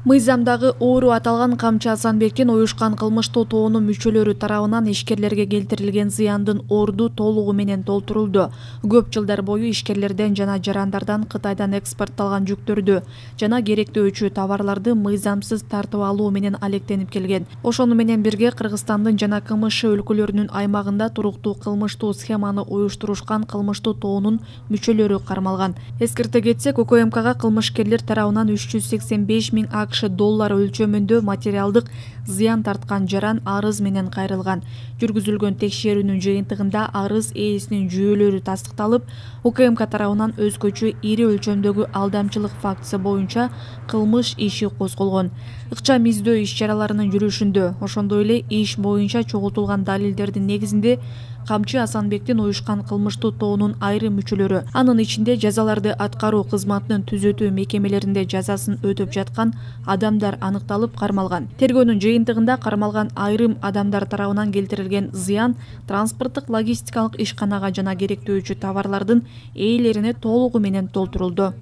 Мыйзамдагы оору аталган Камчы Асанбектин уюшкан кылмыштуу тоонун мүчөлөрү тарабынан ишкерлерге келтирилген зыяндын орду толугу менен толтурулду. Көп жылдар бою ишкерлерден жана жарандардан Кытайдан экспортталган жүктөрдү жана керектөөчү товарларды мыйзамсыз тартып алуу менен алектенип келген. Ошону менен бирге Кыргызстандын жана КМШ өлкөлөрүнүн аймагында туруктуу кылмыштуу схеманы уюштурушкан кылмыштуу тоонун мүчөлөрү кармалган. Эскерте кетсек, УКМКга кылмышкерлер тарабынан 385 миң АКШ доллар өлчөмүндө материалдык зыян тарткан жаран арыз менен кайрылган. Жүргүзүлгөн текшерүүнүн жыйынтыгында арыз ээсинин жүйөлөрү тастыкталып, УКМК тарабынан өзгөчө ири өлчөмдөгү алдамчылык фактысы боюнча кылмыш иши козголгон. Ыкчам издөө иш-чараларынын жүрүшүндө, ошондой эле иш боюнча чогултулган далилдердин негизинде Камчы Асанбектин уюшкан кылмыштуу тоонун айрым мүчөлөрү, анын ичинде жазаларды аткаруу кызматынын түзөтүү мекемелеринде жазасын өтөп жаткан адамдар аныкталып кармалган. Тергөөнүн жыйынтыгында кармалган айрым адамдар тарабынан келтирилген зыян транспорттук логистикалык ишканага жана керектөөчү товарлардын ээлерине толугу менен толтурулду.